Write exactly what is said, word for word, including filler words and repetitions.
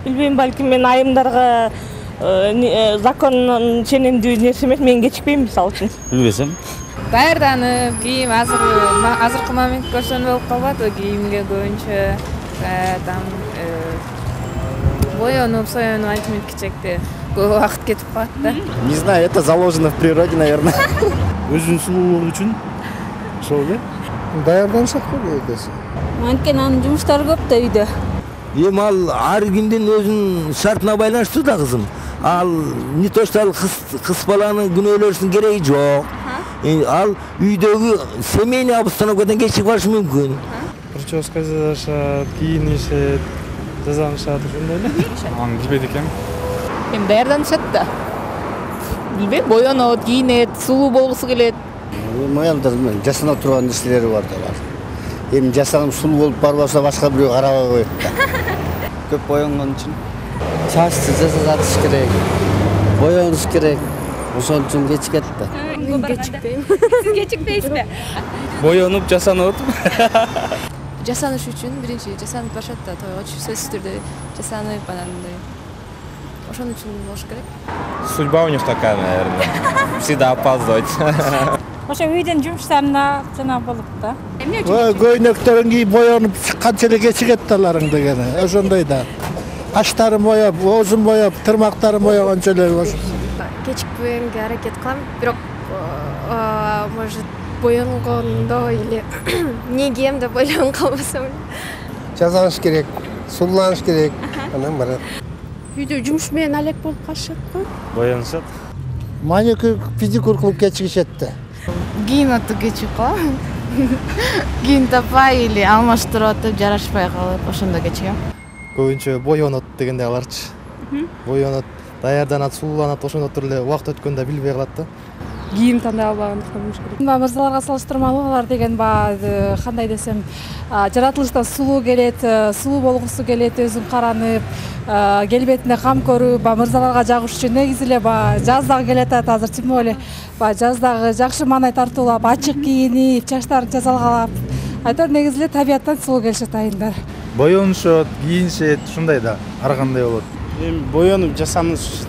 Билбейм, балким мен айымдарга закондун ченемдүү нерсе эмес, мен кечикпейм мисалы үчүн. Билбесем. Даярданып, кийим азыр азыркы момент көрсөм болуп калбайбы, кийимге көбүнчө там боенуп, соенуп антип мынтикчекте көп убакыт кетип калат да. Не знаю, это заложено в природе, наверное. Өзүнүн сулуулугу үчүн ошол эле. Даярданышат го көбүнчөсү. Анткени анын жумуштары көп да үйдө. Эми ал ар кимдин өзүнүн шартына байланыштуу да кызым. Ал не то что ал кыз баланын күнөөлөрүнүн кереги жок. Ал үйдөгү семейный обстановкадан кечип калышы мүмкүн. Прическа жасашат, кийинишет, тазаланышат, ошондой эле. Аны билбейт экенмин. Эми даярданышат да. Билбейм, боенот, кийинет, сулуу болгусу келет. Аялдардын жасанып турган нерселери бар да бар. Эми жасанып сулуу болуп барбаса башка бирөө карабай коет да. Көп боенгон үчүн чачты жасатыш керек, боенуш керек. Ошон үчүн кечикет да. Мен кечикпейм. Сиз кечикпейсизби? Боенуп, жасанып Жасаныш үчүн биринчи жасанып барышат да, тойго сөзсүз түрдө жасанып анандай. Ошон үчүн болуш керек. Судьба у них такая, наверное. Всегда опаздывать. Ошо үйдүн жумуштарына жана болуп да. Эмне үчүн? Көйнөктөрүн кийип боенуп чыкканча эле кечигет да аларың дегени. Ошондой да. Каштарын боеп, оозун боеп, тырмактарын боегончо эле Кечикпегенге аракет кылам, бирок может боенгондо или не кийем деп ойлонуп калбасам. Жасаныш керек, сулууланыш керек. Анан барат. Үйдө жумуш менен алек болуп калышат го. Боянышат. маникюр, педикюр кылып кечигишет да. Кийин атып кечип калам. Кийин таппай или алмаштырып атып жарашпай калып, ошондо кечигем. Көбүнчө боенот дегенде аларчы. Боенот, даярданат, сулууланат, ошондо эле убакыт өткөндө билбей калат да. Кийим тандай албагандыктан болуш керек. Мырзаларга салыштырмалуу алар деген баягы кандай десем, жаратылыштан сулуу келет, сулуу болгусу келет, өзүн каранып, келбетине кам көрүп, мырзаларга жагышчу негизи эле баягы жаз дагы келатат азыр, тем более баягы жаздагы жакшы маанай тартуулап, ачык кийинип, чачтарын тазалап, айтор негизи эле табияттан сулуу келишет айымдар. Боенушот, кийинишет, ушундай да, ар кандай болот. Эми боенуп жасаныш